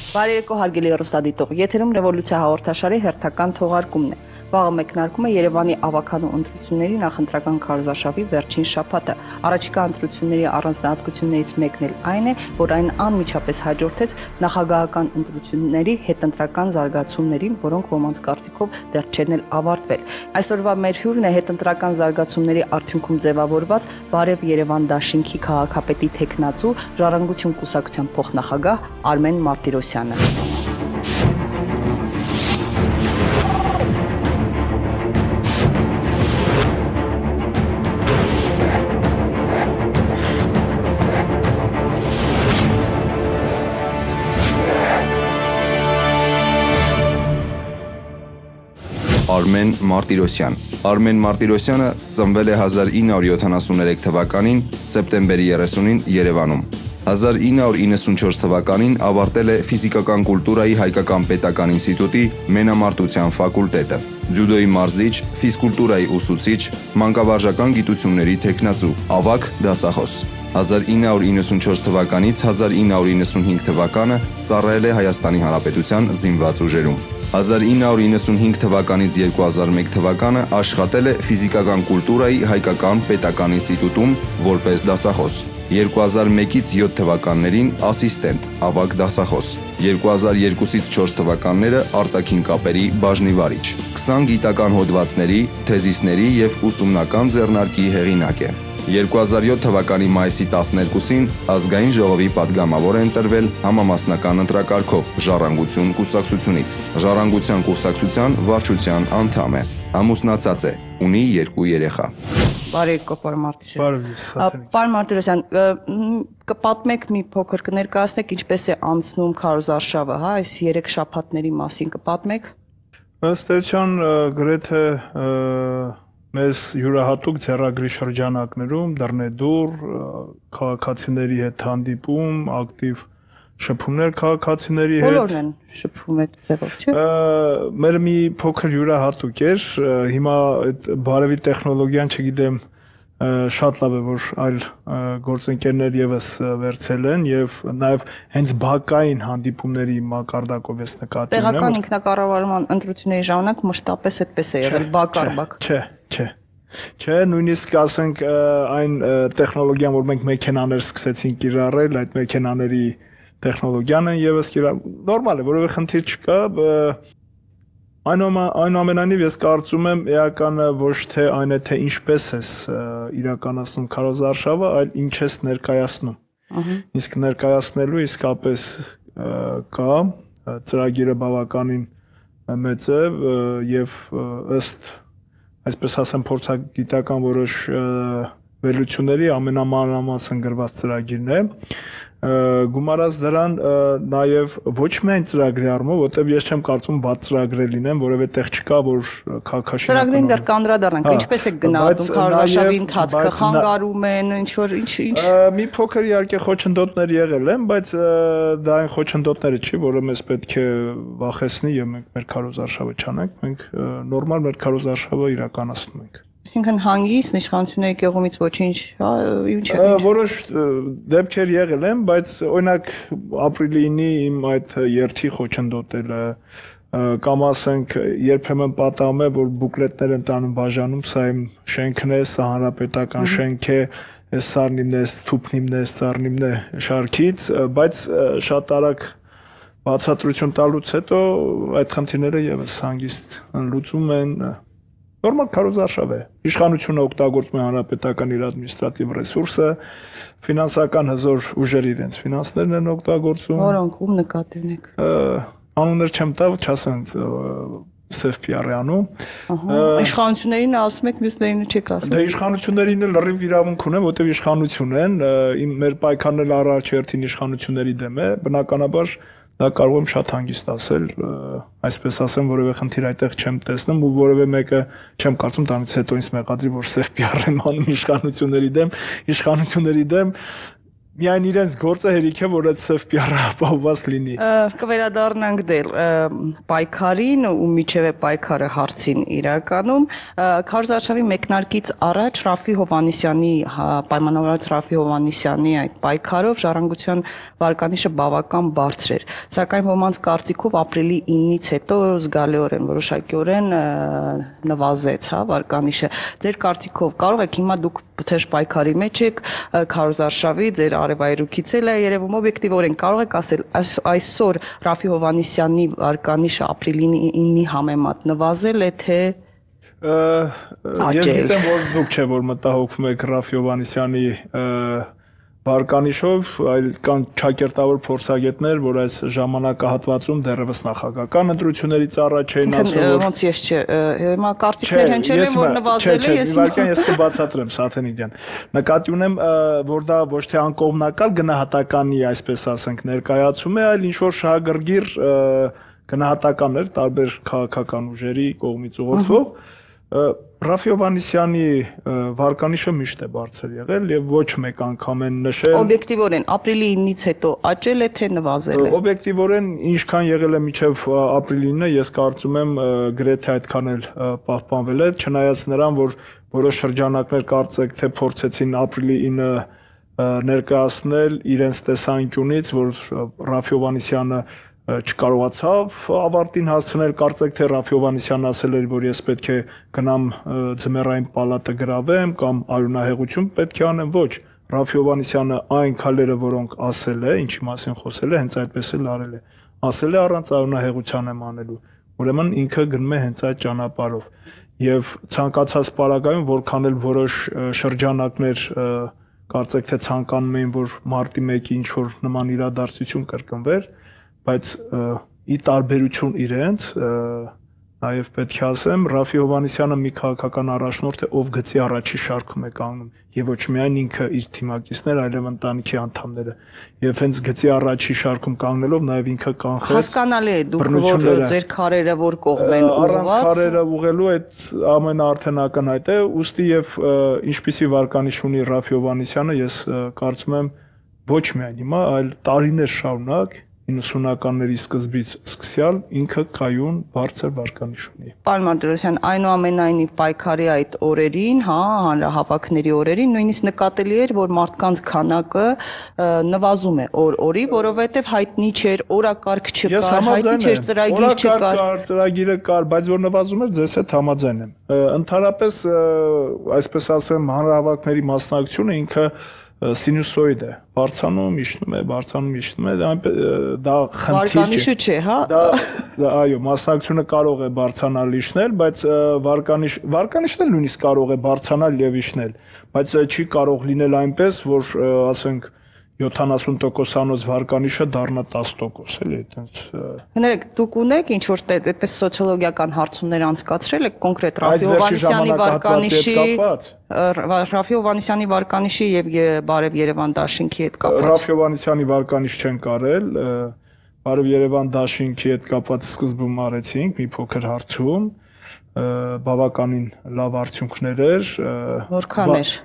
Բարեկո հարգելի հեռուստադիտող, եթերում Ռևոլյուցիա հաղորդաշարի հերթական թողարկումն է։ Վաղը մեկնարկում է Երևանի ավագանու ընտրությունների նախընտրական քարոզարշավի վերջին շաբաթը։ Առաջիկա ընտրությունների առանձնահատկություններից մեկն էլ այն է, որ այն անմիջապես հաջորդեց նախագահական ընտրությունների հետընտրական զարգացումներին, որոնք ոմանց կարծիքով դեռ չեն էլ ավարտվել։ Այսօրվա մեր հյուրն է հետընտրական զարգացումների արդյունքում ձևավորված Բարև Երևան դաշինքի քաղաքապետի թեկնածու Ժառանգություն կուսակցության փոխնախագահ Արմեն Մարտիրոսյանը։ Արմեն Մարտիրոսյան։ Արմեն Մարտիրոսյանը ծնվել է 1973 թվականին սեպտեմբերի 30-ին Երևանում։ 1994 թվականին ավարտել է ֆիզիկական կուլտուրայի Հայկական պետական ինստիտուտի մենամարտության ֆակուլտետը։ Ձյուդոյի մարզիչ, ֆիզկուլտուրայի ուսուցիչ, մանկավարժական գիտությունների թեկնածու, ավագ դասախոս։ 1994 թվականից 1995 թվականը ծառայել է Հայաստանի Հանրապետության զինված ուժերում։ 1995 թվականից 2001 թվականը աշխատել է ֆիզիկական կուլտուրայի Հայկական պետական ինստիտուտում որպես դասախոս։ 2001-ից 7 թվականներին ասիստենտ, ավագ դասախոս։ 2002-ից 4 թվականները արտաքին կապերի բաժնի վարիչ։ 20 գիտական հոդվածների, թեզիսների և ուսումնական ձեռնարկի հեղինակ է։ 2007 թվականի մայիսի 12-ին ազգային ժողովի պատգամավոր է ընտրվել համամասնական ընտրակարգով Ժառանգություն կուսակցությունից։ Ժառանգության կուսակցության վարչության անդամ է։ Ամուսնացած է, ունի 2 երեխա։ Բարեկո, պարոն Մարտիրոսյան։ Պարոն Մարտիրոսյան, կպատմեք մի փոքր, կներկայացնեք ինչպես է անցնում քարոզարշավը, հա, այս 3 շաբաթների մասին կպատմեք։ Ըստ էության գրեթե մեզ յուրահատուկ ձեռագրի շրջանակներում դռնեդուռ քաղաքացիների հետ հանդիպում, ակտիվ շփումներ քաղաքացիների հետ։ Բոլորն են շփվում այդ ձևով, չէ՞։ Մեր մի փոքր յուրահատուկ էր, հիմա այդ բարևի տեխնոլոգիան չգիտեմ շատ լավ է, որ այլ գործընկերներ եւս վերցել են եւ նաեւ հենց բակային հանդիպումների մակարդակով ես նկատի ունեմ։ Տեղական ինքնակառավարման ընտրությունների ժամանակ մշտապես այդպես է եղել, բակ առ բակ։ Չէ, նույնիսկ ասենք այն տեխնոլոգիան, որ մենք մեքենաներ սկսեցինք կիրառել, այդ մեքենաների տեխնոլոգիան են եւս նորմալ է, որովհետեւ խնդիր չկա, այնուամենայնիվ ես կարծում եմ էականը ոչ թե այն է, թե ինչպես ես իրականացնում քարոզարշավը, այլ ինչ ես ներկայացնում։ Իսկ ներկայացնելու իսկապես կա, ծրագիրը բավականին մեծ է եւ ըստ այսպես ասեմ փորձագիտական որոշ վերլուծությունների ամենամանրամասն գրված ծրագիրն է։ Գումարած դրան նաև ոչ միայն ծրագրի առումով, որտեղ ես չեմ կարծում վատ ծրագրեր լինեն, որևէ տեղ չկա, որ քաղաքաշինական ծրագրին դեռ կանդրադառնանք, ինչպես է գնահատում քարոզարշավի ընթացքը, խանգարում են, ինչ որ ինչ մի փոքր իհարկե խոչընդոտներ եղել են, բայց դա այն խոչընդոտները չի, որը մեզ պետք է վախեցնի եւ մենք մեր քարոզարշավը չանենք, մենք նորմալ մեր քարոզարշավը իրականացնում ենք։ Այսինքն հանգիստ իշխանությունների կողմից ոչինչ, հա, ինչ է։ Որոշ դեպքեր եղել են, բայց օրինակ ապրիլի 9-ի իմ այդ երթի խոչընդոտելը կամ ասենք երբեմն պատահում է, որ բուկլետներ են տանում բաժանում, սա իմ շենքն է, սա հանրապետական շենք է, այս սառնիմն է, թուփնիմն է, սառնիմն է շարքից, բայց շատ արագ բացատրություն տալուց հետո այդ խնդիրները եւս հանգիստ լուծում են։ Նորմալ քարոզարշավ է։ Իշխանությունը օգտագործում է հանրապետական իր ադմինիստրատիվ ռեսուրսը, ֆինանսական հզոր ուժեր իրենց ֆինանսներն են օգտագործում։ Որոնք ում նկատի ունեք։ Անուններ չեմ տա, չասեմ սև PR-անում։ Իշխանություններին ասում եք, մյուսներին չեք ասում։ Դե իշխանություններին էլ լրիվ իրավունք ունեն, որտեղ իշխանություն են, մեր պայքարն առաջերտին իշխանությունների դեմ է, բնականաբար դա կարող եմ շատ հանգիստ ասել, այսպես ասեմ, որևէ խնդիր այդտեղ չեմ տեսնում ու որևէ մեկը չեմ կարծում դրանից հետո ինձ մեղադրի, որ սև PR եմ անում իշխանությունների դեմ, Միայն իրենց գործը հերիք է, որ այդ սև պիառը ապահովված լինի։ Կվերադառնանք դեռ պայքարին ու միջև է պայքարը հարցին իրականում քարոզարշավի մեկնարկից առաջ Ռաֆի Հովհաննիսյանի պայմանավորված Ռաֆի Հովհաննիսյանի այդ պայքարով ժառանգության վարկանիշը բավական բարձր էր, սակայն ոմանց կարծիքով ապրիլի 9-ից հետո զգալիորեն որոշակիորեն նվազեց, հա, վարկանիշը։ Ձեր կարծիքով կարող եք հիմա դուք թեժ պայքարի մեջ եք քարոզարշավի ձեր արևայրուքից էլ է երևում օբյեկտիվորեն կարող եք ասել այսօր Ռաֆի Հովհաննիսյանի վարկանիշը ապրիլի 9-ի համեմատ նվազել է թե ես գիտեմ որ դուք չէ որ մտահոգվում եք Ռաֆի Հովհաննիսյանի վարկանիշով, այլ կան ճակերտավոր փորձագետներ, որ այս ժամանակահատվածում դեռևս նախագահական ընտրություններից առաջ էին ասում, որ ոնց ես չէ, հիմա կարծիքներ հնչել են, որ նվազել է, ես կբացատրեմ, Սաթենիկ ջան։ Նկատի ունեմ, որ դա ոչ թե անկողմնակալ գնահատականի, այսպես ասենք, ներկայացում է, այլ ինչ որ շահագրգիռ գնահատականներ տարբեր քաղաքական ուժերի կողմից ուղղորդվող Ռաֆի Հովհաննիսյանի վարկանիշը միշտ է բարձր եղել եւ ոչ մեկ անգամ են նշել օբյեկտիվորեն ապրիլի 9-ից հետո աճել է թե նվազել է օբյեկտիվորեն ինչքան եղել է մինչեւ ապրիլի 9-ը ես կարծում եմ գրեթե այդքան էլ պահպանվել է չնայած նրան որ որոշ շրջանակներ կարծեք թե փորձեցին ապրիլի 9-ը ներկայացնել իրենց տեսանկյունից որ Ռաֆի Հովհաննիսյանը չկարողացավ ավարտին հասցնել կարծեք թե Ռաֆի Հովհաննիսյանն ասել էր որ ես պետք է գնամ ձմեռային պալատը գրավեմ կամ արյունահեղություն պետք է անեմ ոչ Ռաֆի Հովհաննիսյանը այն քայլերը որոնք ասել է ինչի մասին խոսել է հենց այդպես էլ արել է ասել է առանց արյունահեղության եմ անելու ուրեմն ինքը գնում է հենց այդ ճանապարհով եւ ցանկացած պարագայում որքան էլ որոշ շրջանակներ կարծեք թե ցանկանում էին որ մարտի 1-ի ինչ որ նման իրադարձություն կրկնվեր բայց ի տարբերություն իրենց նաև պետք է ասեմ Ռաֆի Հովհաննիսյանը մի քաղաքական առաջնորդ է ով գծի առաջի շարքում է կանգնում եւ ոչ միայն ինքը իր թիմակիցներ այլև ընտանիքի անդամները եւ հենց գծի առաջի շարքում կանգնելով նաև ինքը կանխեց հասկանալի է դուք որ ձեր քարերը որ կողմ են ուղղված առանց քարերը ուղղելու այդ ամենը արդեն ակնհայտ է ուստի եւ ինչպիսի վարկանիշ ունի Ռաֆի Հովհաննիսյանը ես կարծում եմ ոչ միայն հիմա այլ տարիներ շարունակ 90-ականների սկզբից սկսյալ ինքը կայուն բարձր վարկանիշ ունի։ Պարոն Մարտիրոսյան, այնուամենայնիվ պայքարի այդ օրերին, հա, հանրահավաքների օրերին նույնիսկ նկատելի էր, որ մարդկանց քանակը նվազում է օր-օրի, որովհետև հայտնի չէր, օրակարգ չկար, հայտնի չէր, ծրագիր չկար։ Ծրագիրը կար, բայց որ նվազում էր, ձեզ հետ համաձայն եմ։ Ընդհանրապես, այսպես ասեմ, հանրահավաքների մասնակցությունը ինքը սինուսոիդ է, բարձանում, իջնում է, դա խնդիր չէ, հա։ Դա այո, մասնակցությունը կարող է բարձրանալ իջնել, բայց վարկանիշն էլ նույնիսկ կարող է բարձրանալ եւ իջնել, բայց չի կարող լինել այնպես, որ ասենք 70%-անոց վարկանիշը դառնա 10%, էլի, այտենց։ Հներեք, դուք ունեք ինչ որ այդպես սոցիոլոգիական հարցումներ անցկացրել եք կոնկրետ Ռաֆի Հովհաննիսյանի վարկանիշի եւ Բարև Երևան դաշինքի հետ կապված։ Ռաֆի Հովհաննիսյանի վարկանիշ չեն կարել, Բարև Երևան դաշինքի հետ կապված սկզբում արեցինք մի փոքր հարցում, բավականին լավ արդյունքներ էր։ Որքան էր։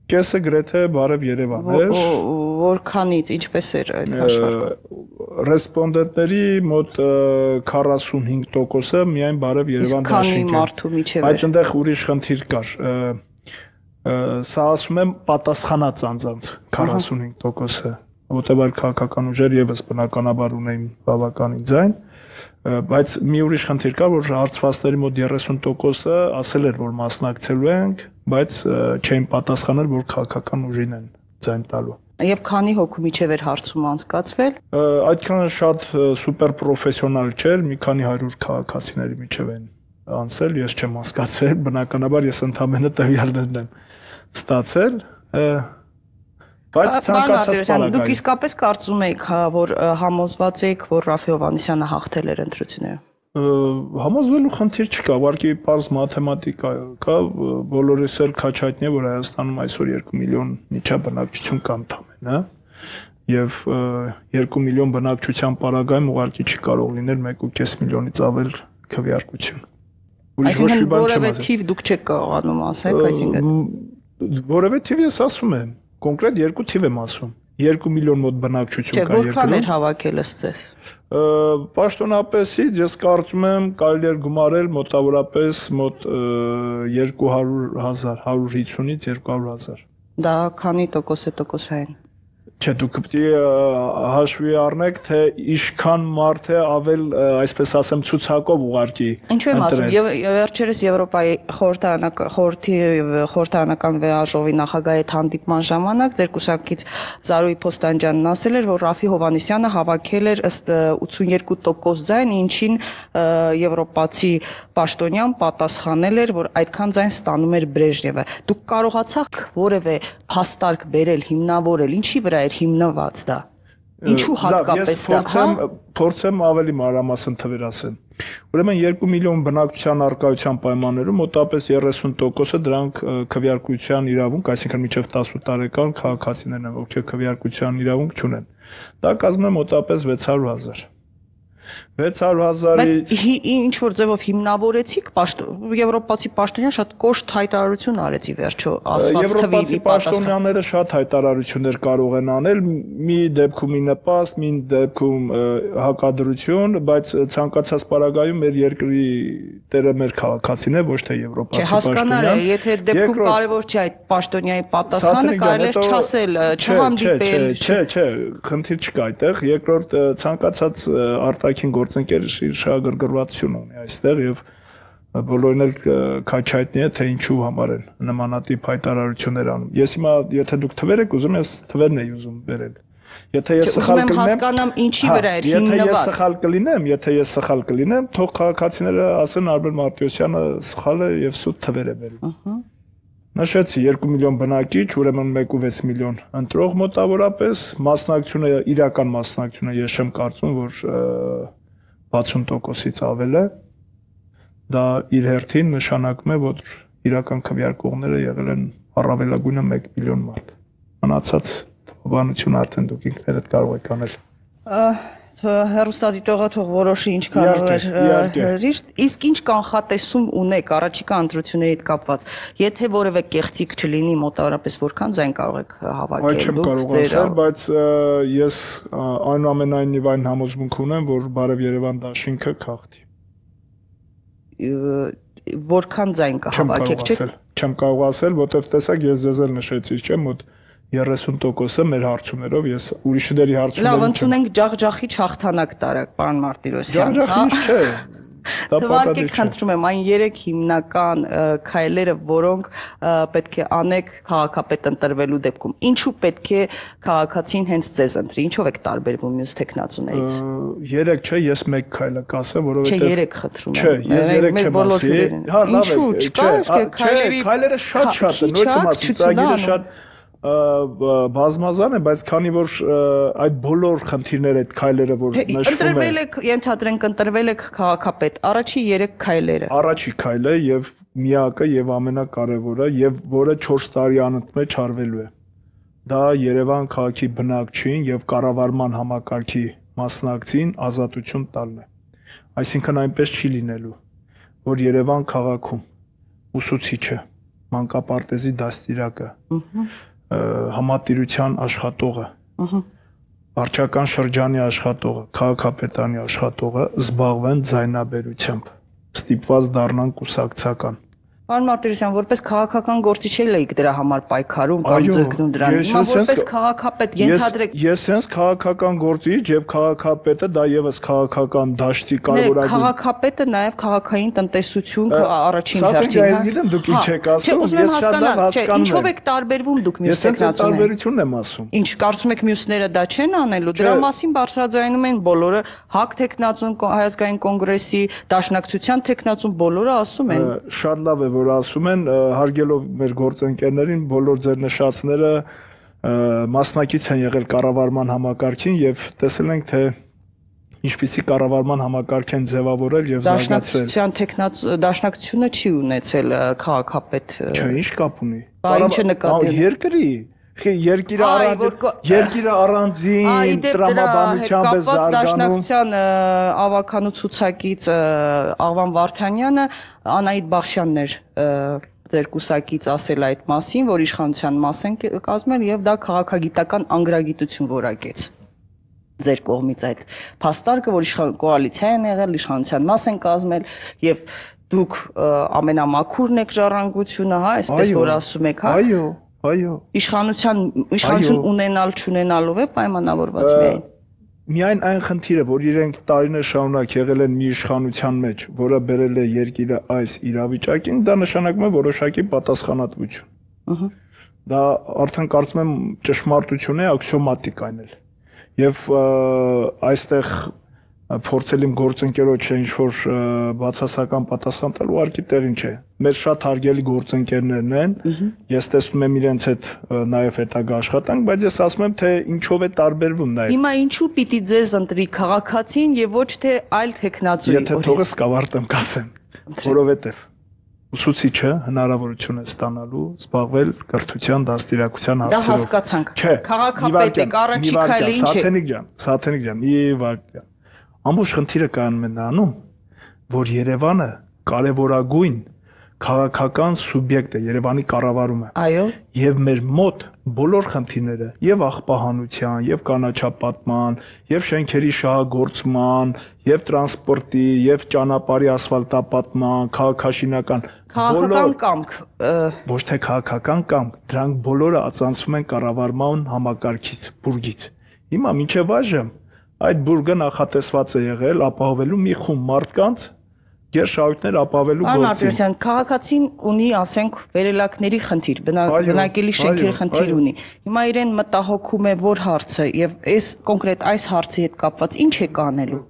Կեսը գրեթե Բարև Երևան էր։ Որքանից, ինչպես էր այդ հաշվարկը։ Ռեսպոնդենտների մոտ 45%-ը միայն Բարև Երևան դաշինք էր։ Քանի մարդու միջև էր։ Բայց այնտեղ ուրիշ խնդիր կար։ Սա ասում եմ պատասխանած անձանց 45%-ը, որտեղ այլ քաղաքական ուժեր եւս բնականաբար ունեին բավականին ձայն, բայց մի ուրիշ խնդիր կար, որ հարցվածների մոտ 30%-ը ասել էր, որ մասնակցելու ենք, բայց չէին պատասխանել, որ քաղաքական ուժին են ձայն տալու։ Եվ քանի հոգու միջև էր հարցում անցկացվել։ Այդքան շատ սուպեր պրոֆեսիոնալ չէր, մի քանի 100 քաղաքացիների միջև են անցել, ես չեմ հասկացել, բնականաբար ես ընդամենը տվյալներն եմ ստացել, բայց ցանկացած պարագայում։ Դուք իսկապես կարծում եք, որ համոզված եք, որ Ռաֆի Հովհաննիսյանը հաղթել էր ընտրությունները։ Համոզվելու խնդիր չկա, ուղղակի պարզ մաթեմատիկա կա, բոլորիս էլ քաչայտնի է, որ Հայաստանում այսօր 2 միլիոն միջաբնակչություն կա ընդամենը, հա, եւ 2 միլիոն բնակչության պարագայում ուղղակի չի կարող լինել 1.5 միլիոնից ավել քվեարկություն։ Այսինքն որևէ թիվ դուք չեք կարողանում ասել, այսինքն որևէ թիվ ես ասում եմ, կոնկրետ երկու թիվ եմ ասում։ 2 միլիոն մոտ բնակչություն կա երկրում։ Որքան էր հավաքել ըստ Պաշտոնապես ես կարծում եմ կարելի էր գումարել մոտավորապես մոտ 200,000, 150-ից 200,000։ Դա քանի տոկոս է տոկոսային։ Չէ, դուք պետք է հաշվի առնեք, թե ինչքան մարդ է ավել, այսպես ասեմ, ցուցակով ուղարկի։ Ինչու եմ ասում, վերջերս Եվրոպայի խորհրդարանական վեաժողովի նախագահի հետ հանդիպման ժամանակ ձեր կուսակից Զարուհի Փոստանջյանն ասել էր, որ Ռաֆի Հովհաննիսյանը հավաքել էր ըստ 82% ձայն, ինչին եվրոպացի պաշտոնյան պատասխանել էր, որ այդքան ձայն ստանում էր Բրեժնևը։ Դուք կարողացաք որևէ փաստարկ բերել, հիմնավորել, ինչի վրա էր հիմնված դա։ Ինչու հատկապես դա, փորձեմ ավելի մանրամասն թվեր ասեմ։ Ուրեմն 2 միլիոն բնակչության առկայության պայմաններում մոտավորապես 30%-ը դրանք քվեարկության իրավունք, այսինքն մինչև 18 տարեկան քաղաքացիներն են, ովքեր քվեարկության իրավունք չունեն։ Դա կազմում է մոտավորապես 600,000։ 600,000-ից ինչ որ ձևով հիմնավորեցիք, եվրոպացի պաշտոնյան շատ կոշտ հայտարարություն արեց ի վերջո, ասված թվի եվրոպացի պաշտոնյաները շատ հայտարարություններ կարող են անել, մի դեպքում մի նպաստ, մի դեպքում հակադրություն, բայց ցանկացած պարագայում մեր երկրի տերը մեր քաղաքացին է, ոչ թե եվրոպացի պաշտոնյան։ Հասկանալ է, եթե դեպքում կարևոր չէ այդ պաշտոնյայի պատասխանը, կարելի է չասել, չհանդիպել։ Չէ, խնդիր չկա այդտեղ։ Երկրորդ ցանկացած արտաքին գործընկեր շահագրգռվածություն ունի այստեղ եւ բոլորին էլ քաչայտնի է թե ինչու համար են նմանատիպ հայտարարություններ անում։ Ես հիմա եթե դուք թվեր եք ուզում, ես թվերն եմ ուզում բերել։ Եթե ես սխալ կլինեմ, հասկանամ ինչի վրա էր հիմնված։ Եթե ես սխալ կլինեմ, թող քաղաքացիները ասեն Արմեն Մարտիրոսյանը սխալ է եւ սուտ թվեր է բերում։ Նշեցի 2 միլիոն բնակիչ, ուրեմն 1.6 միլիոն ընտրող մոտավորապես, մասնակցությունը, իրական մասնակցությունը ես չեմ կարծում, որ 60%-ից ավել է։ Դա իր հերթին նշանակում է, որ իրական քվեարկողները եղել են առավելագույնը 1 միլիոն մարդ։ Մնացած թվաբանությունը արդեն դուք ինքներդ կարող եք անել։ Հեռուստադիտողը թող որոշի ինչքան հրիշտ, իսկ ինչ կանխատեսում ունեք առաջիկա ընտրությունների հետ կապված, եթե որևէ կեղծիք չլինի, մոտավորապես որքան ձայն կարող եք հավաքել։ Այդ չեմ կարող ասել, բայց ես այնուամենայնիվ այն համոզմունք ունեմ, որ Բարև Երևան դաշինքը քաղցի։ Որքան ձայն կհավաքեք, չէ՞։ Չեմ կարող ասել, որովհետև տեսակ ես ձեզ էլ նշեցի, չէ՞, մոտ 30%-ը մեր հարցումներով, ես ուրիշների հարցումներով Լավ, ընդունենք ջախջախի հաղթանակ տարակ, պարոն Մարտիրոսյան։ Ջախջախի չէ։ Թվարկեք, խնդրում եմ, այն 3 հիմնական քայլերը, որոնք պետք է անեք քաղաքապետ ընտրվելու դեպքում։ Ինչու պետք է քաղաքացին հենց ձեզ ընտրի, ինչով եք տարբերվում մյուս տեխնացուներից։ 3 չէ, ես 1 քայլը կասեմ, որովհետև Չէ, 3 խնդրում եմ։ Չէ, ես 3 չեմ ասի։ Հա, լավ է։ Ինչու՞ չկա, քայլերը շատ են, նույնիսկ ասում, ծրագիրը շատ բազմազան է, բայց քանի որ այդ բոլոր խնդիրները, այդ քայլերը, որ նշվում են։ Ընտրվել եք, ենթադրենք ընտրվել եք քաղաքապետ, առաջի 3 քայլերը։ Առաջի քայլը եւ միակը եւ ամենակարևորը եւ որը 4 տարի անընդմեջ արվելու է։ Դա Երևան քաղաքի բնակչին եւ կառավարման համակարգի մասնակցին ազատություն տալն է։ Այսինքն այնպես չի լինելու, որ Երևան քաղաքում ուսուցիչը, մանկապարտեզի դաստիարակը, համատիրության աշխատողը, վարչական շրջանի աշխատողը, քաղաքապետարանի աշխատողը զբաղվեն ձայնաբերությամբ, ստիպված դառնան կուսակցական։ Պարոն Մարտիրոսյան, որպես քաղաքական գործիչ եք դրա համար պայքարում կամ ձգտում դրան։ Հիմա որպես քաղաքապետ ենթադրեք։ Ես հենց քաղաքական գործիչ եւ քաղաքապետը դա եւս քաղաքական դաշտի կարևորագույն։ Քաղաքապետը նաեւ քաղաքային տնտեսություն առաջին հերթին։ Սա ես գիտեմ դուք ինչ եք ասում, ես շատ լավ հասկանում եմ։ Ինչով եք տարբերվում դուք մյուս տեխնացուներից։ Ես տարբերությունն եմ ասում։ Ինչ կարծում եք մյուսները դա չեն անելու։ Դրա մասին բարձրաձայնում են բոլորը, ՀԱԿ տեխնացուն, Հայազգային կոնգրեսի, Դաշնակցության տեխնացուն բոլորը ասում են։ Շատ լավ է, որ ասում են, հարգելով մեր գործընկերներին, բոլոր ձեր նշածները մասնակից են եղել կառավարման համակարգին եւ տեսել ենք, թե ինչպիսի կառավարման համակարգ են ձևավորել եւ զարգացրել։ Դաշնակցությունը չի ունեցել քաղաքապետ։ Չէ, ինչ կապ ունի։ Ինչը նկատել։ Երկրի Երկիրը առանձին տրամաբանությամբ է զարգանում։ Դաշնակցության ավականու ցուցակից Աղվան Վարդանյանը Անահիտ Բախշյանն էր ձեր կուսակից ասել այդ մասին, որ իշխանության մաս են կազմել եւ դա քաղաքագիտական անգրագիտություն որակեց ձեր կողմից այդ փաստարկը, որ կոալիցիա են եղել, իշխանության մաս են կազմել եւ դուք ամենամաքուրն եք ժառանգությունը, հա, այսպես որ ասում եք, հա։ Այո։ Իշխանություն ունենալ չունենալով է պայմանավորված միայն։ Միայն այն խնդիրը, որ իրենք տարիներ շարունակ եղել են մի իշխանության մեջ, որը բերել է երկիրը այս իրավիճակին, դա նշանակում է որոշակի պատասխանատվություն։ Դա արդեն կարծում եմ ճշմարտություն է, աքսիոմատիկ այն էլ։ Եվ այստեղ փորձել իմ գործընկերոջ ինչ-որ բացասական պատասխան տալ ուղղակի տեղին չէ։ Մեր շատ հարգելի գործընկերներն են, ես տեսնում եմ իրենց հետ նաև հետագա աշխատանք, բայց ես ասում եմ, թե ինչով է տարբերվում նաև։ Հիմա ինչու պիտի ձեզ ընտրի քաղաքացին եւ ոչ թե այլ տեխնացուի։ Եթե թողես կավարտեմ կասեմ, որովհետեւ ուսուցիչը հնարավորություն է ստանալու զբաղվել կրթության դաստիարակության հարցերով։ Դա հասկացանք։ Քաղաքապետ եք, առաջի քայլը ինչ է։ Սաթենիկ ջան, մի վարքյան։ Ամբողջ խնդիրը կայանում է նրանում, որ Երևանը կարևորագույն քաղաքական սուբյեկտ է, Երևանի կառավարումը։ Այո։ Եվ մեր մոտ բոլոր խնդիրները, եւ աղբահանության, եւ կանաչապատման, եւ շենքերի շահագործման, եւ տրանսպորտի, եւ ճանապարհի ասֆալտապատման, քաղաքաշինական կամք, ոչ թե քաղաքական կամք, դրանք բոլորը ածանցվում են կառավարման համակարգից, բուրգից։ Հիմա մինչև այժմ այդ բուրգը նախատեսված է եղել ապահովելու մի խումբ մարդկանց գերշահույթներ ապահովելու գործին։ Պարոն Արտիրոսյան, քաղաքացին ունի, ասենք, վերելակների խնդիր, բնակելի շենքերի խնդիր ունի։ Հիմա իրեն մտահոգում է որ հարցը եւ այս կոնկրետ այս հարցի հետ կապված ինչ է կանելու։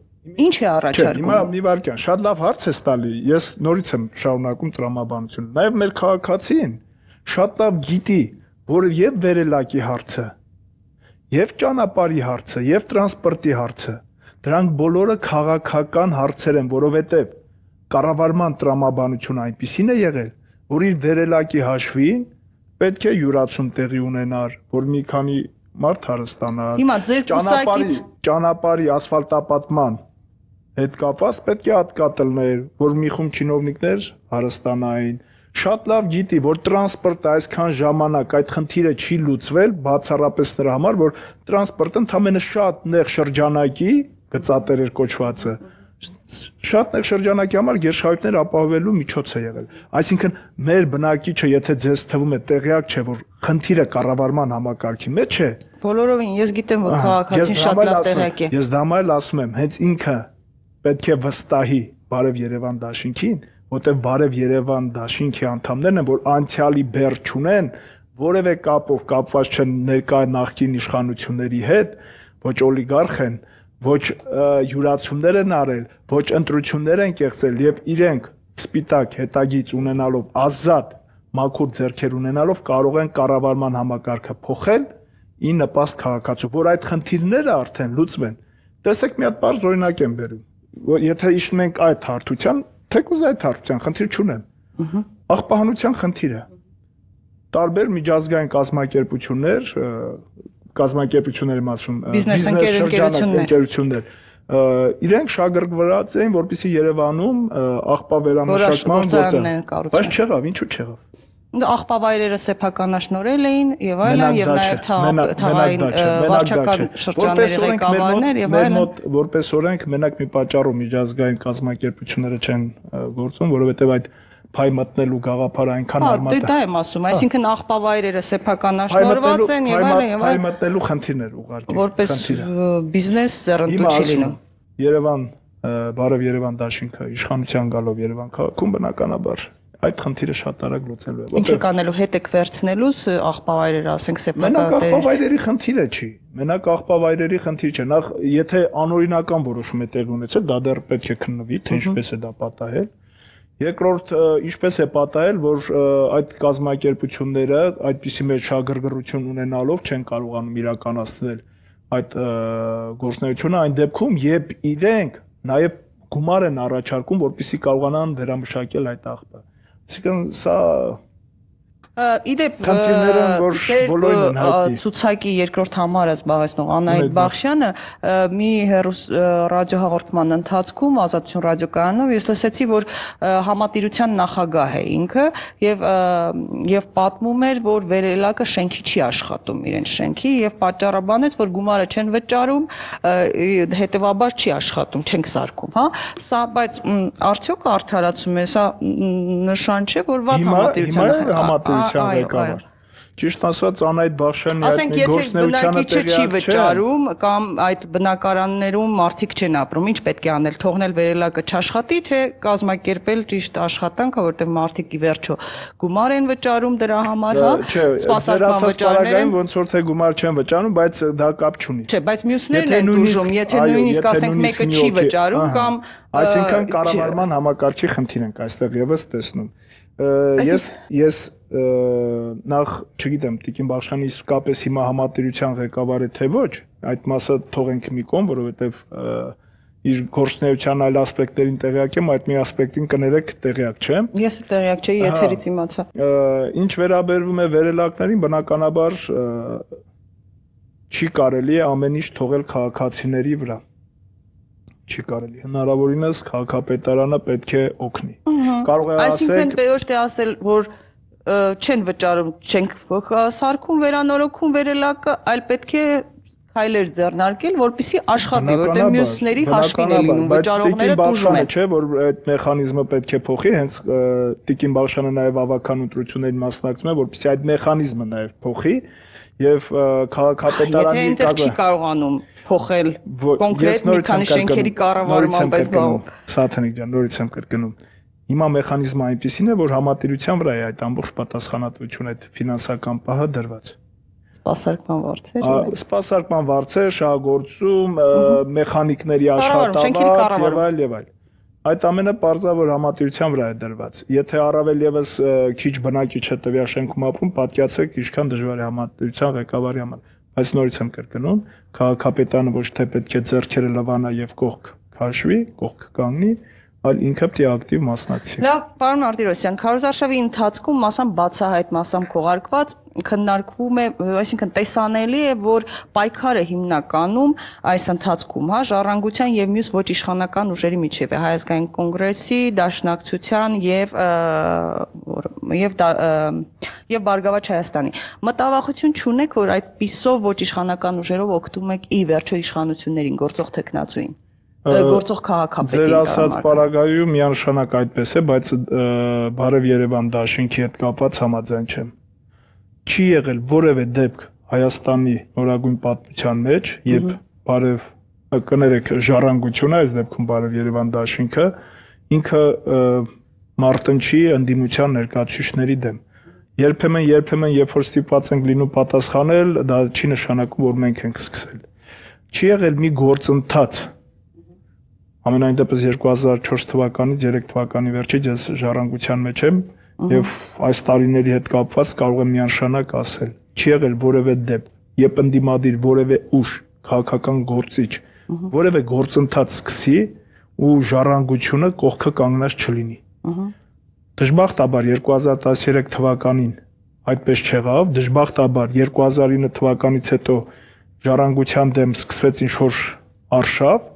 Ինչ է առաջարկում։ Հիմա մի վարքյան, շատ լավ հարց է տալի։ Ես նորից եմ շարունակում տրամաբանությունը։ Նաեւ մեր քաղաքացին շատ լավ գիտի, որ եւ վերելակի հարցը, եւ ճանապարհի հարցը, եւ տրանսպորտի հարցը, դրանք բոլորը քաղաքական հարցեր են, որովհետեւ կառավարման տրամաբանությունը այնպիսին է եղել, որ իր վերելակի հաշվին պետք է յուրացում տեղի ունենար, որ մի քանի մարդ հարստանար։ Հիմա ձեր կուսակից ճանապարհի ասֆալտապատման հետ կապված պետք է հատկատելներ, որ մի խումբ չինովնիկներ հարստանային։ Շատ լավ գիտի, որ տրանսպորտը այսքան ժամանակ այդ խնդիրը չի լուծվել, բացառապես նրա համար, որ տրանսպորտը ընդամենը շատ նեղ շրջանակի գծատերեր կոչվածը շատ նեղ շրջանակի համար գերշահույթներ ապահովելու միջոց է եղել։ Այսինքն մեր բնակիչը, եթե ձեզ թվում է տեղյակ չէ, որ խնդիրը կառավարման համակարգի մեջ է, բոլորովին ես գիտեմ, որ քաղաքացին շատ լավ տեղյակ է։ Ես դա մայլ ասում եմ, հենց ինքը պետք է վստահի Բարև Երևան դաշինքին, որտեղ Բարև Երևան դաշինքի անդամներն են, որ անցյալի բեռ չունեն, որևէ կապով կապված չեն ներկա նախկին իշխանությունների հետ, ոչ օլիգարխ են, ոչ յուրացումներ են արել, ոչ ընտրություններ են կեղծել եւ իրենք սպիտակ հետագից ունենալով ազատ մաքուր ձեռքեր ունենալով կարող են կառավարման համակարգը փոխել ի նպաստ քաղաքացու, որ այդ խնդիրները արդեն լուծվեն։ Տեսեք մի հատ բարձ օրինակ եմ բերում, եթե իջնում ենք այդ հարթության, թեկուզ այդ հարթության խնդիր չունեմ։ Աղբահանության խնդիրը տարբեր միջազգային կազմակերպություններ կազմակերպությունների մասում բիզնես ընկերություններ իրենք շահագրգռված էին, որպեսզի Երևանում աղբավերամշակման գործը, բայց չեղավ, ինչու չեղավ։ Աղբավայրերը սեփականաշնորհել էին եւ այլն եւ նաեւ թաղային վարչական շրջանների ղեկավարներ եւ այլն։ Որպես օրենք մենակ մի պատճառով միջազգային կազմակերպությունները չեն գործում, որովհետեւ այդ փայ մտնելու գաղափարը այնքան արմատ է։ Դա եմ ասում, այսինքն աղբավայրերը սեփականաշնորհված են եւ այլն։ Փայ մտնելու խնդիրներ ուղղակի։ Որպես բիզնես ձեռնտու չի լինում։ Երևան, Բարև Երևան դաշինքը իշխանության գալով Երևան քաղաքում բնականաբար այդ խնդիրը շատ արագ լուծելու է։ Ինչ է կանելու, հետ եք վերցնելուց աղբավայրերը, ասենք սեփական մենակ աղբավայրերի խնդիրը չի։ Մենակ աղբավայրերի խնդիր չէ։ Նախ եթե անօրինական որոշում է տեղի ունեցել, դա դեռ պետք է քննվի, թե ինչպես է դա պատահել։ Երկրորդ, ինչպես է պատահել, որ այդ կազմակերպությունները այդպիսի մեջ շահագրգռություն ունենալով չեն կարողանում իրականացնել այդ գործունեությունը այն դեպքում, երբ իրենք նաև գումար են առաջարկում, որպեսզի կարողանան վերամշակել այդ աղբը։ Այսինքն սա Իդեպ Խնդիրները որ բոլորին են հայտնի։ Ցուցակի երկրորդ համարը զբաղեցնող Անահիտ Բախշյանը մի ռադիոհաղորդման ընթացքում Ազատություն ռադիոկայանով ես լսեցի, որ համատիրության նախագահ է ինքը եւ պատմում էր, որ վերելակը շենքի չի աշխատում իրեն շենքի եւ պատճառաբանեց, որ գումարը չեն վճարում, հետեւաբար չի աշխատում, չենք սարքում, հա։ Սա բայց արդյոք արդարացում է, սա նշան չէ, որ վատ համատիրության ղեկավար։ Ճիշտ ասած Անահիտ Բախշյանի այդ գործնեությանը չի վճարում կամ այդ բնակարաններում մարդիկ չեն ապրում, ինչ պետք է անել, թողնել վերելակը չաշխատի, թե կազմակերպել ճիշտ աշխատանքը, որտեղ մարդիկ ի վերջո գումար են վճարում դրա համար, հա, սպասարկման վճարներ են, ոնց որ թե գումար չեն վճարում, բայց դա կապ չունի։ Չէ, բայց մյուսներն են դժում, եթե նույնիսկ ասենք մեկը չի վճարում կամ այսինքն կառավարման համակարգի խնդիր ենք այստեղ եւս տեսնում։ Ես նախ չգիտեմ Տիկին Բախշյանը իսկապես հիմա համատիրության ղեկավար է թե ոչ, այդ մասը թողենք մի կողմ, որովհետև իր գործնեության այլ ասպեկտներին տեղյակ եմ, այդ մի ասպեկտին կներեք տեղյակ չեմ։ Ես տեղյակ չէի, եթերից իմացա։ Ինչ վերաբերվում է վերելակներին, բնականաբար չի կարելի ամեն ինչ թողել քաղաքացիների վրա։ Չի կարելի, հնարավորինս քաղաքապետարանը պետք է օգնի։ Կարող է ասել, այսինքն պետք է ասել, որ չեն վճարում, չենք սարքում, վերանորոգում վերելակը, այլ պետք է քայլեր ձեռնարկել, որպեսզի աշխատի, որտեղ մյուսների հաշվին է լինում, վճարողները տուժում են։ Չէ, որ այդ մեխանիզմը պետք է փոխի, հենց Տիկին Բախշյանը նաև ավական ընտրություններին մասնակցում է, որպեսզի այդ մեխանիզմը նաև փոխի եւ քաղաքապետարանի եթե այնտեղ չի կարողանում փոխել կոնկրետ մի քանի շենքերի կառավարման պես բաղ։ Սաթանիկ ջան, նորից եմ կրկնում։ Հիմա մեխանիզմը այնպեսին է, որ համատիրության վրա է այդ ամբողջ պատասխանատվությունը, այդ ֆինանսական պահը դրված։ Սպասարկման վարձեր։ Սպասարկման վարձեր, շահագործում, մեխանիկների աշխատավարձ եւ այլ եւ այլ։ Այդ ամենը պարզավոր համատիրության վրա է դրված։ Եթե առավել եւս քիչ բնակիչ տվյալ շենքում ապրում, պատկերացրեք ինչքան դժվար է համատիրության ղեկավարի համար։ Բայց նորից եմ կրկնում, քաղաքապետարանը ոչ թե պետք է ձեռքերը լվանա եւ կողք քաշվի, կողք կանգնի, այլ ինքը պետք է ակտիվ մասնակցի։ Լավ, պարոն Մարտիրոսյան, քարոզարշավի ընթացքում մասամբ բացահայտ, մասամբ քողարկված քննարկվում է, այսինքն տեսանելի է, որ պայքարը հիմնականում այս ընթացքում, հա, ժառանգության եւ մյուս ոչ իշխանական ուժերի միջեւ է, Հայ ազգային կոնգրեսի, Դաշնակցության եւ Բարգավաճ Հայաստանի։ Մտավախություն չունեք, որ այդ պիսով ոչ իշխանական ուժերով օգտվում եք ի վերջո իշխանություններին, գործող տեխնացուին։ Գործող քաղաքապետին։ Ձեր ասած պարագայում միանշանակ այդպես է, բայց Բարև Երևան դաշինքի հետ կապված համաձայն չեմ։ Չի եղել որևէ դեպք Հայաստանի նորագույն պատմության մեջ, երբ Բարև կներեք ժառանգությունը, այս դեպքում Բարև Երևան դաշինքը ինքը մարտնչի ընդդիմության ներկայացուցիչների դեմ։ Երբեմն, երբ որ ստիպված ենք լինում պատասխանել, դա չի նշանակում, որ մենք ենք սկսել։ Չի եղել մի գործընթաց Ամենայն դեպս 2004 թվականից 3 թվականի վերջից ես ժառանգության մեջ եմ եւ այս տարիների հետ կապված կարող եմ միանշանակ ասել չի եղել որևէ դեպք երբ ընդդիմադիր որևէ ուժ քաղաքական գործիչ որևէ գործընթաց սկսի ու ժառանգությունը կողքը կանգնած չլինի դժբախտաբար 2013 թվականին այդպես չեղավ դժբախտաբար 2009 թվականից հետո ժառանգության դեմ սկսվեց ինչ-որ արշավ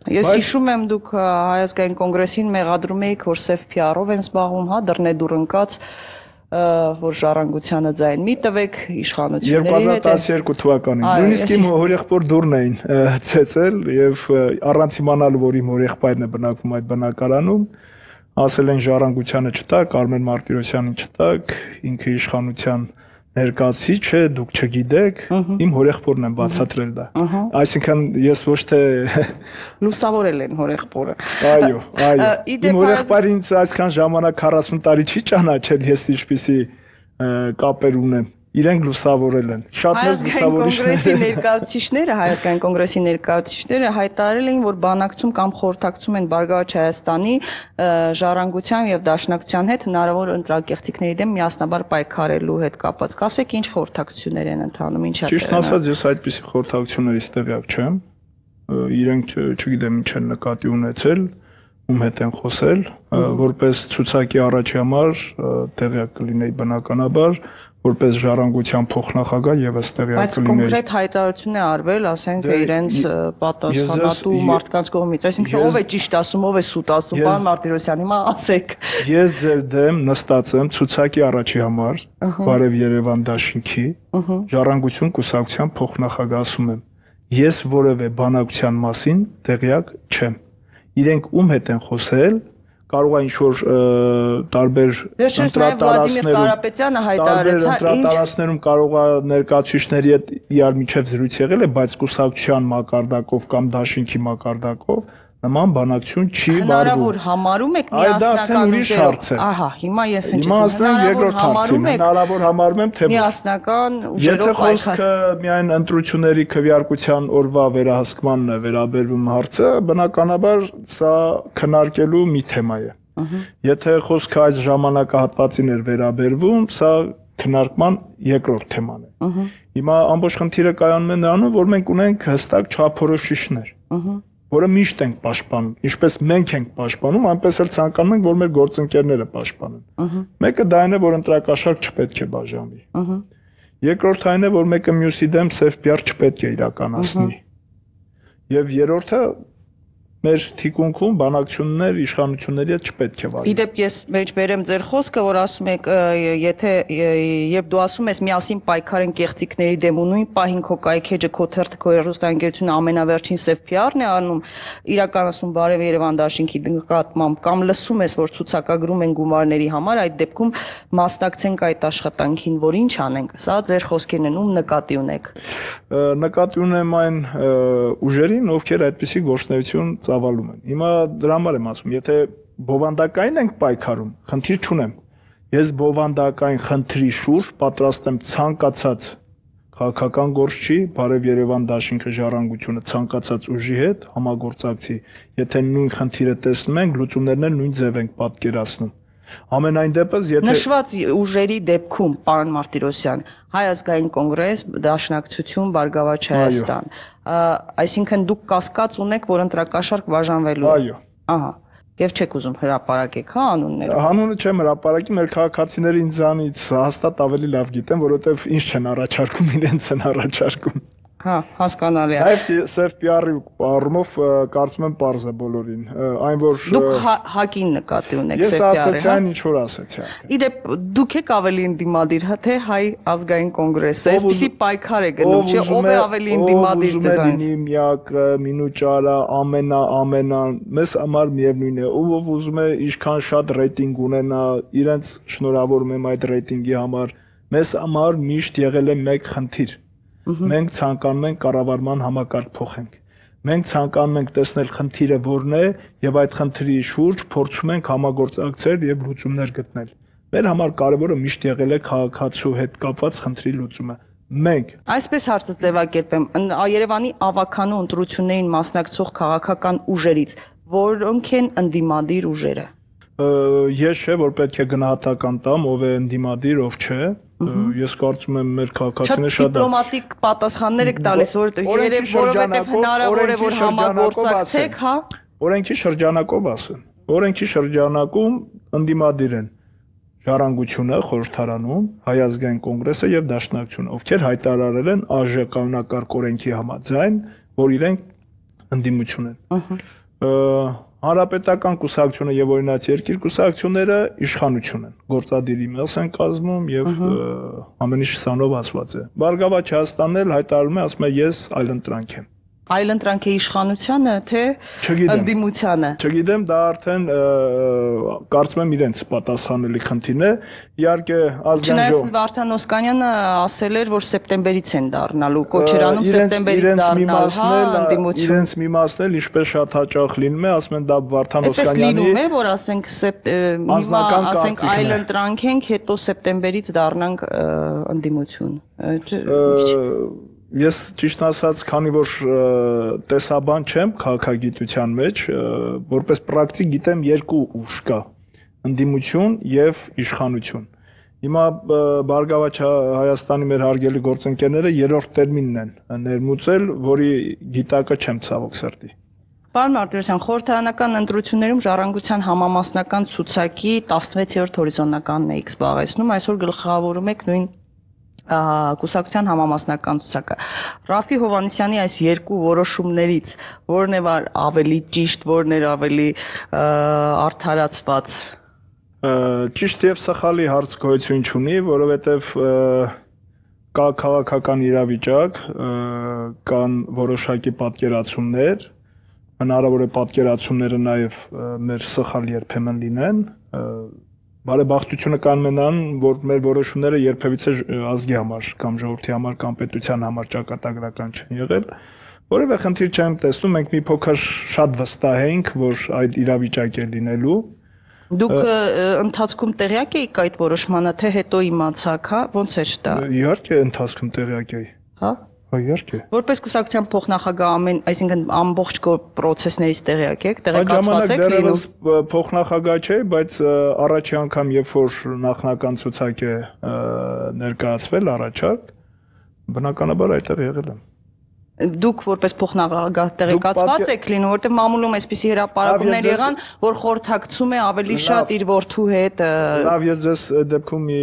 Ես հիշում եմ դուք Հայ ազգային կոնգրեսին մեղադրում եք, որ սև PR-ով են զբաղվում, հա, դռնեդուռ ընկած, որ ժառանգությանը ձայն մի տվեք իշխանությունների հետ 2012 թվականին։ Նույնիսկ իմ հորեղբոր դուրն էին ցեցել եւ առանց իմանալու, որ իմ հորեղբայրն է բնակվում այդ բնակարանում, ասել են ժառանգությանը չտակ, Արմեն Մարտիրոսյանին չտակ, ինքը իշխանության ներկայացուցիչ է, դուք չգիտեք, իմ հորեղբորն եմ բացատրել դա։ Այսինքն ես ոչ թե լուսավորել են հորեղբորը։ Այո, այո։ Իմ հորեղբայրը ինձ այսքան ժամանակ 40 տարի չի ճանաչել, ես ինչպիսի կապեր ունեմ։ Իրենք լուսավորել են։ Շատ մեծ լուսավորիչներ։ Հայ ազգային կոնգրեսի ներկայացուցիչները հայտարարել էին, որ բանակցում կամ խորհրդակցում են Բարգավաճ Հայաստանի ժառանգության եւ Դաշնակցության հետ հնարավոր ընտրակեղծիքների դեմ միասնաբար պայքարելու հետ կապված։ Կասեք ինչ խորհրդակցություններ են ընթանում, ինչ է։ Ճիշտ ասած, ես այդպիսի խորհրդակցություններից տեղյակ չեմ։ Իրենք չգիտեմ ինչ են նկատի ունեցել, ում հետ են խոսել, որպես ցուցակի առաջի համար տեղյակ կլինեի բնականաբար, որպես ժառանգության փոխնախագահ եւս տեղյակ Բայց կլինեի։ կոնկրետ հայտարարություն է արվել, ասենք իրենց պատասխանատու մարդկանց կողմից, այսինքն ով է ճիշտ ասում, ով է սուտ ասում, պարոն Մարտիրոսյան, հիմա ասեք։ Ես ձեր դեմ նստած եմ ցուցակի առաջի համար, Բարև Երևան դաշինքի, ժառանգություն կուսակցության փոխնախագահ ասում եմ։ Ես որևէ բանակցության մասին տեղյակ չեմ։ Իրենք ում հետ են խոսել, կարող է ինչ-որ տարբեր ընտրատարածքներում կարող է ներկայացուցիչների հետ իրար միջև զրույց եղել է, բայց կուսակցության մակարդակով կամ դաշինքի մակարդակով նման բանակցություն չի վարվում։ Հնարավոր համարում եք միասնական ուժերով։ Ահա, հիմա ես ինչ ասեմ, հնարավոր համարում եմ, թե միասնական ուժերով եթե խոսքը միայն ընտրությունների քվեարկության օրվա վերահսկմանն է վերաբերվում հարցը, բնականաբար սա քննարկելու մի թեմա է։ Եթե խոսքը այս ժամանակահատվածին էր վերաբերվում, սա քննարկման երկրորդ թեման է։ Հիմա ամբողջ խնդիրը կայանում է նրանում, որ մենք ունենք հստակ չափորոշիչներ, որը միշտ ենք պաշտպանում, ինչպես մենք ենք պաշտպանում, այնպես էլ ցանկանում ենք, որ մեր գործընկերները պաշտպանեն։ Մեկը դա այն է, որ ընտրակաշառք չպետք է բաժանվի։ Երկրորդը այն է, որ մեկը մյուսի դեմ սև պիար չպետք է իրականացնի։ Եվ երրորդը մեր թիկունքում բանակցություններ իշխանությունների հետ չպետք է վարի։ Իդեպ ես մեջբերեմ ձեր խոսքը, որ ասում եք, եթե երբ դու ասում ես միասին պայքարեն կեղծիքների դեմ ու նույն պահին քո կայքեջը, քո թերթը, քո հեռուստաընկերությունը ամենավերջին սև PR-ն է անում, իրականացում Բարև Երևան դաշինքի նկատմամբ կամ լսում ես, որ ցուցակագրում են գումարների համար, այդ դեպքում մասնակցենք այդ աշխատանքին, որ ինչ անենք։ Սա ձեր խոսքերն են, ում նկատի ունեք։ Նկատի ունեմ այն ուժերին, ովքեր այդպիսի գործունեություն ծավալում են։ Հիմա դրա համար եմ ասում, եթե բովանդակային ենք պայքարում, խնդիր չունեմ։ Ես բովանդակային խնդրի շուրջ պատրաստ եմ ցանկացած քաղաքական գործչի, Բարև Երևան դաշինքը ժառանգությունը ցանկացած ուժի հետ համագործակցի, եթե նույն խնդիրը տեսնում ենք, լուծումներն էլ նույն ձև ենք պատկերացնում։ Ամենայն դեպս, եթե նշված ուժերի դեպքում, պարոն Մարտիրոսյան, Հայ ազգային կոնգրես, Դաշնակցություն, Բարգավաճ Հայաստան, այսինքն դուք կասկած ունեք, որ ընտրակաշառք բաժանվելու է։ Այո։ Ահա։ Եվ չեք ուզում հրապարակեք, հա, անունները։ Անունը չեմ հրապարակի, մեր քաղաքացիները ինձանից հաստատ ավելի լավ գիտեն, որովհետև ինչ չեն առաջարկում, իրենց են առաջարկում։ Հա, հասկանալի է։ Նաև սև PR-ի առումով կարծում եմ պարզ է բոլորին։ Այն որ դուք հակին նկատի ունեք սև PR-ը, հա։ Ես ասացի այն ինչ որ ասացի։ Իդեպ դուք եք ավելի ընդդիմադիր, հա, թե Հայ ազգային կոնգրեսը, այսպեսի պայքար է գնում, չէ՞, ով է ավելի ընդդիմադիր ձեզանից։ Միակը, Մինուճարը, ամենան, մեզ համար միևնույն է, ով ուզում է ինչքան շատ ռեյտինգ ունենա, իրենց շնորհավորում եմ այդ ռեյտինգի համար, մեզ համար միշտ եղել է մեկ խնդիր։ Մենք ցանկանում ենք կառավարման համակարգ փոխենք։ Մենք ցանկանում ենք տեսնել խնդիրը որն է եւ այդ խնդրի շուրջ փորձում ենք համագործակցել եւ լուծումներ գտնել։ Մեր համար կարևորը միշտ եղել է քաղաքացու հետ կապված խնդրի լուծումը։ Մենք այսպես հարցը ձևակերպեմ, Երևանի ավականու ընտրություններին մասնակցող քաղաքական ուժերից որոնք են ընդդիմադիր ուժերը։ Ես չէ, որ պետք է գնահատական տամ, ով է ընդդիմադիր, ով չէ։ Ես կարծում եմ մեր քաղաքացիները շատ դիպլոմատիկ պատասխաններ եք տալիս, որովհետև հնարավոր է որ համագործակցեք, հա։ Օրենքի շրջանակով ասեմ։ Օրենքի շրջանակում ընդդիմադիր են Ժառանգությունը խորհրդարանում, Հայ ազգային կոնգրեսը եւ Դաշնակցությունը, ովքեր հայտարարել են ԱԺ կանոնակարգ օրենքի համաձայն, որ իրենք ընդդիմություն են։ Հանրապետական կուսակցությունը եւ օրինաց երկիր կուսակցությունները իշխանություն են, գործադիր իմաց են կազմում եւ ամեն ինչ սանով ասված է։ Բարգավաճ Հայաստանն էլ հայտարարում է, ասում է ես այլընտրանք եմ։ Այլընտրանք է իշխանությանը, թե ընդդիմությանը։ Չգիտեմ, դա արդեն կարծում եմ իրենց պատասխանելի խնդիրն է։ Իհարկե ազգային ժողովը Չնայած Վարդան Օսկանյանը ասել էր, որ սեպտեմբերից են դառնալու, կոչերանում սեպտեմբերից դառնալ, հա, ընդդիմություն։ Իրենց մի մասն էլ ինչպես շատ հաճախ լինում է, ասում են դա Վարդան Օսկանյանի։ Այդպես լինում է, որ ասենք այլընտրանք ենք, հետո սեպտեմբերից դառնանք ընդդիմություն։ Ես ճիշտ ասած, քանի որ տեսաբան չեմ քաղաքագիտության մեջ, որպես պրակտիկ գիտեմ երկու ուժ կա՝ ընդդիմություն եւ իշխանություն։ Հիմա Բարգավաճ Հայաստանի մեր հարգելի գործընկերները երրորդ տերմինն են ներմուծել, որի գիտակը չեմ ցավոք սրտի։ Պարոն Մարտիրոսյան, խորհրդարանական ընտրություններում Ժառանգության համամասնական ցուցակի 16-րդ հորիզոնականն եք զբաղեցնում, այսօր գլխավորում եք նույն կուսակցության համամասնական ցուցակը։ Ռաֆի Հովհաննիսյանի այս երկու որոշումներից որն է ավելի ճիշտ, որն է ավելի արդարացված։ Ճիշտ եւ սխալի հարց գոյություն չունի, որովհետեւ կա քաղաքական իրավիճակ, կան որոշակի պատկերացումներ, հնարավոր է պատկերացումները նաեւ մեր սխալ երբեմն լինեն, բարեբախտությունը կան նրան, որ մեր որոշումները երբևիցե ազգի համար կամ ժողովրդի համար կամ պետության համար ճակատագրական չեն եղել, որևէ խնդիր չեմ տեսնում, մենք մի փոքր շատ վստահ ենք, որ այդ իրավիճակ է լինելու։ Դուք ընթացքում տեղյակ եք այդ որոշմանը, թե հետո իմացաք, հա, ոնց էր դա։ Իհարկե ընթացքում տեղյակ էի։ Հա։ Իհարկե։ Որպես կուսակցության փոխնախագահ այսինքն ամբողջ պրոցեսներից տեղյակ եք, տեղեկացված եք լինում։ Դեռևս փոխնախագահ չէ, բայց առաջի անգամ երբ որ նախնական ցուցակ է ներկայացվել առաջարկ, բնականաբար այդտեղ եղել եմ։ Դուք որպես փոխնախագահ տեղեկացված եք լինում, որտեղ մամուլում այսպիսի հրապարակումներ եղան, որ խորհրդակցում է ավելի շատ իր որդու հետ։ Լավ, ես ձեզ դեպքում մի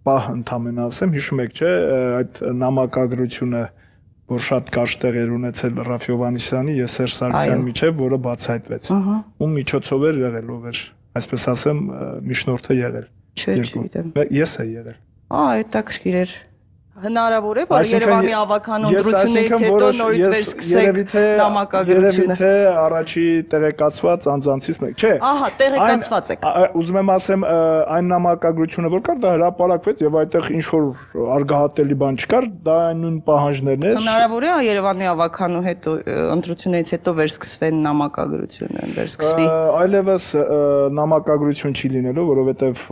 պահ ընդամենը ասեմ, հիշում եք, չէ, այդ նամակագրությունը, որ շատ կարճ տեղեր ունեցել Ռաֆի Հովհաննիսյանի եւ Սերժ Սարգսյանի միջեւ, որը բացահայտվեց։ Ում միջոցով էր եղել, ով էր, այսպես ասեմ, միջնորդը եղել։ Չէ, չգիտեմ։ Ես եմ եղել։ Հետաքրքիր էր։ Հնարավոր է, որ Երևանի ավականու ընտրություններից հետո նորից վերսկսեք նամակագրությունը։ Երևի թե առաջի տեղեկացված անձանցից մեկ, չէ։ Ահա, տեղեկացված եք։ Ուզում եմ ասեմ, այն նամակագրությունը, որ կար, դա հրապարակվեց եւ այդտեղ ինչ որ արգահատելի բան չկար, դա նույն պահանջներն էր։ Հնարավոր է Երևանի ավականու հետո ընտրություններից հետո վերսկսվեն նամակագրությունը, վերսկսվի։ Այլևս նամակագրություն չի լինելու, որովհետեւ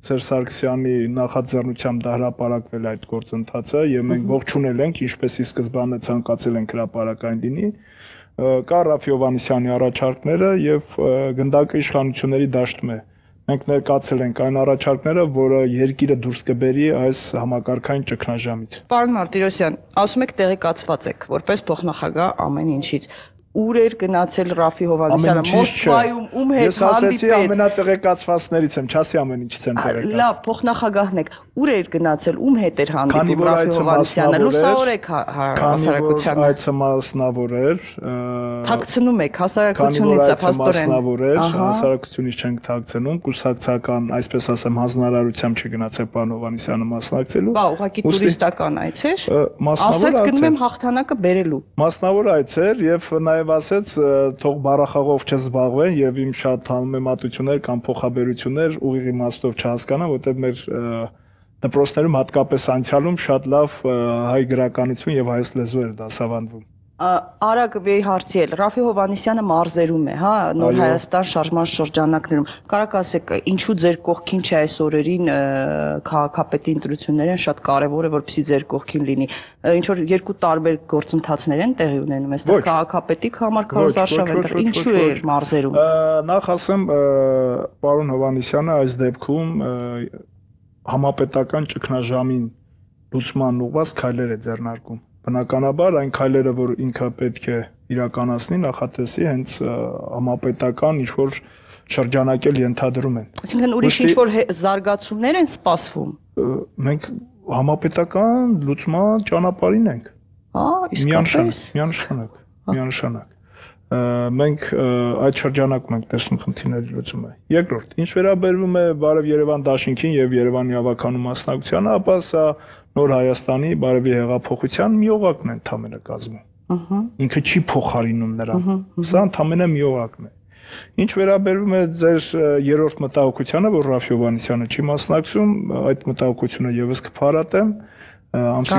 Սերժ Սարգսյանի նախաձեռնությամբ դա հրապարակվել այդ գործընթացը եւ մենք ողջունել ենք, ինչպես ի սկզբանե ցանկացել ենք հրապարակային լինի, կա Ռաֆի Հովհաննիսյանի առաջարկները եւ գնդակը իշխանությունների դաշտում է։ Մենք ներկայացել ենք այն առաջարկները, որը երկիրը դուրս կբերի այս համակարգային ճգնաժամից։ Պարոն Մարտիրոսյան, ասում եք տեղեկացված եք, որպես փոխնախագահ ամեն ինչից։ Ուր էր գնացել Ռաֆի Հովհաննիսյանը, Մոսկվայում, ում հետ հանդիպեց։ Ես ասեցի ամենատեղեկացվածներից եմ, չասի ամեն ինչից եմ տեղեկացված։ Լավ, փոխնախագահն եք, ուր էր գնացել, ում հետ էր հանդիպում Ռաֆի Հովհաննիսյանը, լուսավորեք հասարակությանը։ Այցը մասնավոր էր։ Թաքցնում եք հասարակությունից, փաստորեն։ Մասնավոր էր, հասարակությունից չենք թաքցնում, կուսակցական, այսպես ասեմ, հանձնարարությամբ չգնացել պարոն Հովհաննիսյանը մասնակցելու։ Բա, ուղղակի տուրիստական այց էր։ Մասնավոր ասաց գնում եմ հաղթանակը բերելու։ Մասնավոր այց էր եւ նաեւ ասեց թող բառախաղով չզբաղվեն եւ իմ շատ համեմատություններ կամ փոխաբերություններ ուղիղ իմաստով չհասկանան, որտեղ մեր դպրոցներում հատկապես անցյալում շատ լավ հայ գրականություն եւ հայոց լեզու էր դասավանդվում։ Արագ մի հարցի էլ Ռաֆի Հովհաննիսյանը մարզերում է, հա, Նոր Հայաստան շարժման շրջանակներում։ Կարաք ասեք, ինչու ձեր կողքին չէ այս օրերին քաղաքապետի ընտրությունները շատ կարևոր է, որպեսզի ձեր կողքին լինի։ Ինչ որ երկու տարբեր գործընթացներ են տեղի ունենում, այստեղ քաղաքապետի համար քարոզարշավ են, ինչու է մարզերում։ Նախ ասեմ, պարոն Հովհաննիսյանը այս դեպքում համապետական ճգնաժամին լուծման ուղղված քայլեր է ձեռնարկում։ Բնականաբար այն քայլերը, որ ինքը պետք է իրականացնի, նախատեսի հենց համապետական ինչ-որ շրջանակել ենթադրում են։ Այսինքն ուրիշ ինչ-որ զարգացումներ են սպասվում։ Մենք համապետական լուծման ճանապարհին ենք։ Իսկապես։ Միանշանակ։ Մենք այդ շրջանակում ենք տեսնում խնդիրների լուծումը։ Երկրորդ, ինչ վերաբերվում է Բարև Երևան դաշինքին եւ Երևանի ավականու մասնակցությանը, ապա սա Նոր Հայաստանի բարևի հեղափոխության մի օղակն է ընդամենը կազմում։ Ինքը չի փոխարինում նրան։ Սա ընդամենը մի օղակն է։ Ինչ վերաբերվում է ձեր երրորդ մտահոգությանը, որ Ռաֆի Հովհաննիսյանը չի մասնակցում, այդ մտահոգությունը եւս կփարատեմ։ Ամսի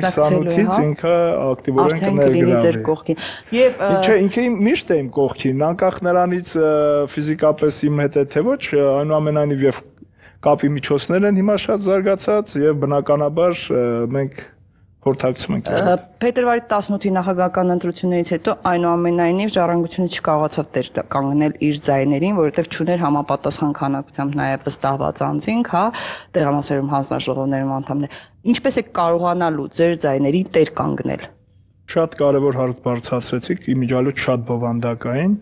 28-ից ինքը ակտիվորեն կներգրավվի։ Եվ չէ, ինքը միշտ է իմ կողքին, անկախ նրանից ֆիզիկապես իմ հետ է թե ոչ, այնուամենայնիվ եւ կապի միջոցներ են հիմա շատ զարգացած եւ բնականաբար մենք խորհրդակցում ենք։ Փետրվարի 18-ի նախագահական ընտրություններից հետո այնուամենայնիվ Ժառանգությունը չկարողացավ տեր կանգնել իր ձայներին, որովհետեւ չուներ համապատասխան քանակությամբ նաեւ վստահված անձինք, հա, տեղամասերում հանձնաժողովներում անդամներ։ Ինչպես է կարողանալու ձեր ձայներին տեր կանգնել։ Շատ կարևոր հարց բարձրացրեցիք, իմիջիալոց շատ բովանդակային։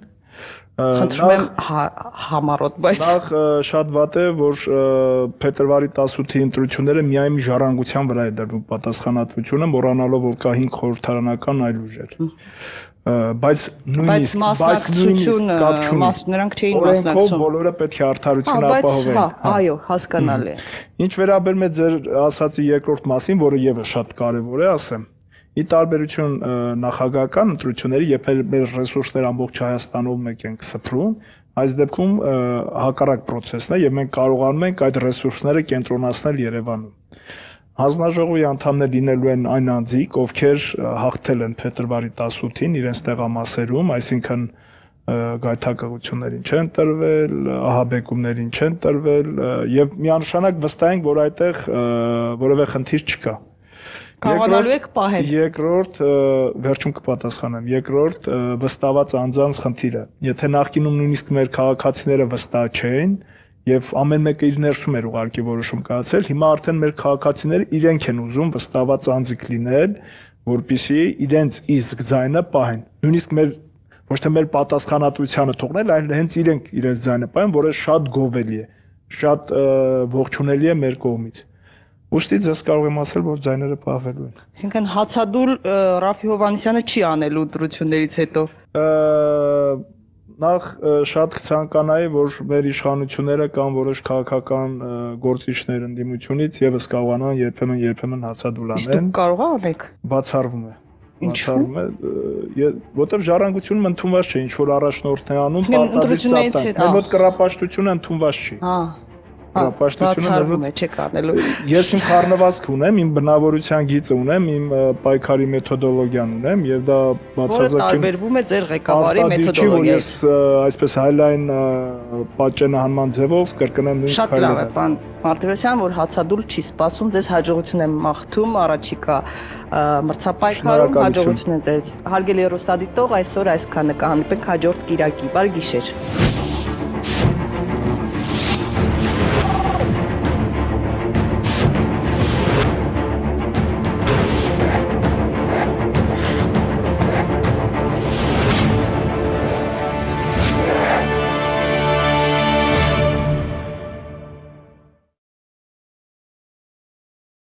Խնդրում եմ համառոտ, բայց Նախ շատ վատ է, որ փետրվարի 18-ի ընտրությունները միայն ժառանգության վրա է դրվում պատասխանատվությունը, մոռանալով որ կա 5 խորհրդարանական այլ ուժեր։ Բայց մասնակցությունը նրանք չէին մասնակցում։ Բոլորը պետք է արդարություն ապահովեն։ Այո, հասկանալի է։ Ինչ վերաբերում է ձեր ասացի երկրորդ մասին, որը եւս շատ կարևոր է, ասեմ։ Ի տարբերություն նախագահական ընտրությունների, երբ մեր ռեսուրսները ամբողջ Հայաստանով մեկ ենք սփռում, այս դեպքում հակառակ process-ն է եւ մենք կարողանում ենք այդ ռեսուրսները կենտրոնացնել Երևանում։ Հանձնաժողովի անդամներ լինելու են այն անձիկ, ովքեր հաղթել են փետրվարի 18-ին իրենց տեղամասերում, այսինքն գայթակղություններին չեն տրվել, ահաբեկումներին չեն տրվել եւ միանշանակ վստահ ենք, որ այդտեղ որևէ խնդիր չկա։ Կարողանալու եք պահել։ Երկրորդ, վերջում կպատասխանեմ, երկրորդ վստահված անձանց խնդիրը։ Եթե նախկինում նույնիսկ մեր քաղաքացիները վստահ չէին եւ ամեն մեկը իր ներսում էր ուղարկի որոշում կայացել, հիմա արդեն մեր քաղաքացիները իրենք են ուզում վստահված անձիկ լինել, որպեսզի իրենց իսկ ձայնը պահեն։ Նույնիսկ մեր ոչ թե մեր պատասխանատվությանը թողնել, այլ հենց իրենք իրենց ձայնը պահեն, որը շատ գովելի է, շատ ողջունելի է մեր կողմից։ Ուստի ձեզ կարող եմ ասել, որ ձայները պահվելու են։ Այսինքն հացադուլ Ռաֆի Հովհաննիսյանը չի անելու ընտրություններից հետո։ Նախ շատ կցանկանայի, որ մեր իշխանությունները կամ որոշ քաղաքական գործիչներ ընդդիմությունից եւս կարողանան երբեմն հացադուլ անեն։ Իսկ դուք կարող եք։ Բացառվում է։ Ինչու՞։ Որտեվ ժառանգությունում ընդունված չէ, ինչ որ առաջնորդն է անում, պարտադիր ծափտան։ Մեր մոտ կռապաշտությունը ընդունված չի։ Բացառվում է, չեք անելու։ Ես իմ խառնվածք ունեմ, իմ բնավորության գիծը ունեմ, իմ պայքարի մեթոդոլոգիան ունեմ եւ դա բացարձակ տարբերվում է ձեր ղեկավարի մեթոդոլոգիայից։ Ես այսպես հայլայն պատճենահանման ձևով կրկնեմ նույն քայլերը։ Շատ լավ է, պարոն Մարտիրոսյան, որ հացադուլ չի սպասում, ձեզ հաջողություն եմ մաղթում առաջիկա մրցապայքարում, հաջողություն ձեզ։ Հարգելի հեռուստադիտող, այսօր այսքանը կհանդիպենք հաջորդ կիրակի։ Բարի գիշեր։